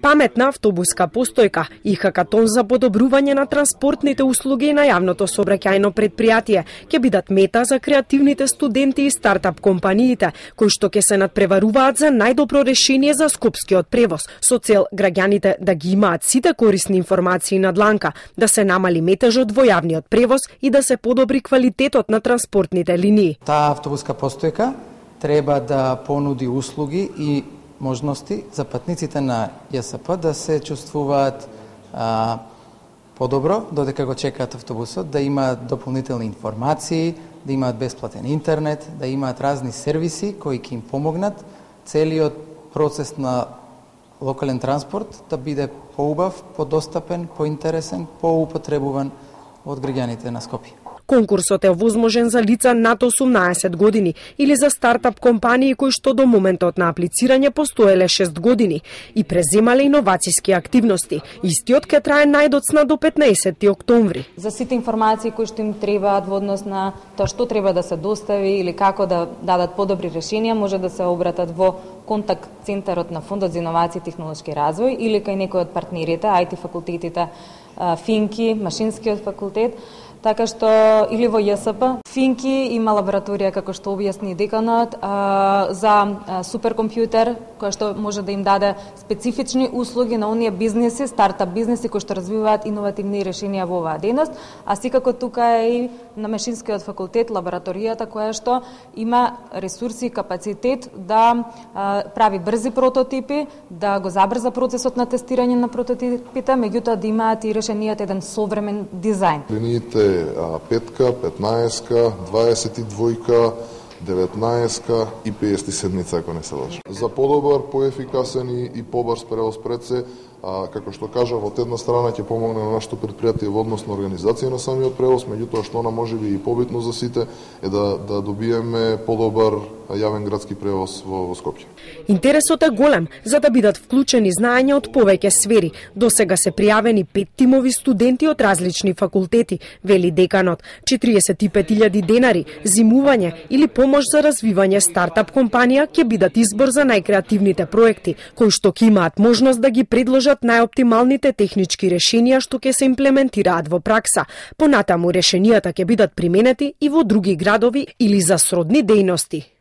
Паметна автобуска постојка и хакатон за подобрување на транспортните услуги на јавното сообраќајно предпријатие ќе бидат мета за креативните студенти и стартап компаниите, кои што ќе се надпреваруваат за најдобро решение за скопскиот превоз, со цел граѓаните да ги имаат сите корисни информации на дланка, да се намали метежот во јавниот превоз и да се подобри квалитетот на транспортните линии. Таа автобуска постојка треба да понуди услуги и можности за патниците на ЈСП да се чувствуваат подобро додека го чекаат автобусот, да имаат дополнителни информации, да имаат бесплатен интернет, да имаат разни сервиси кои ќе им помогнат целиот процес на локален транспорт да биде поубав, подостапен, поинтересен, поупотребуван од граѓаните на Скопје. Конкурсот е возможен за лица над 18 години или за стартап компании кои што до моментот на аплицирање постоеле 6 години и преземале иновацијски активности. Истиот ќе трае најдоцна до 15 октомври. За сите информации кои што им требаат во однос на тоа што треба да се достави или како да дадат подобри решенија, може да се обратат во контакт центарот на Фондот за иновации и технолошки развој или кај некој од партнерите, IT факултетите, Финки, Машинскиот факултет, така што или во ЈСП. Финки има лабораторија, како што објасни деканот, за суперкомпјутер, кој што може да им даде специфични услуги на оние бизнеси, стартап бизнеси кои што развиваат иновативни решенија во оваа дејност, а секако тука е и на Машинскиот факултет лабораторијата која што има ресурси и капацитет да прави брзи прототипи, да го забрза процесот на тестирање на прототипите, меѓутоа да имаат и решенијата еден современ дизајн. Линиите 5-ка, 15-ка, 22-ка, 19-ка и 57-ца, ако не се лажам. За подобар, поефикасен и побрз превоз пред се, како што кажав, од една страна ќе помогне на нашето предпријатие во однос на организација на самиот превоз, меѓутоа што она можеби и побитно за сите е да добиеме подобар јавен градски превоз во Скопје. Интересот е голем за да бидат вклучени знаења од повеќе сфери. До сега се пријавени 5 тимови студенти од различни факултети, вели деканот. 45.000 денари, зимување или помош за развивање стартап компанија ќе бидат избор за најкреативните проекти, кои што ќе имаат можност да ги предложат најоптималните технички решенија што ќе се имплементираат во пракса. Понатаму решенијата ќе бидат применети и во други градови или за сродни дејности.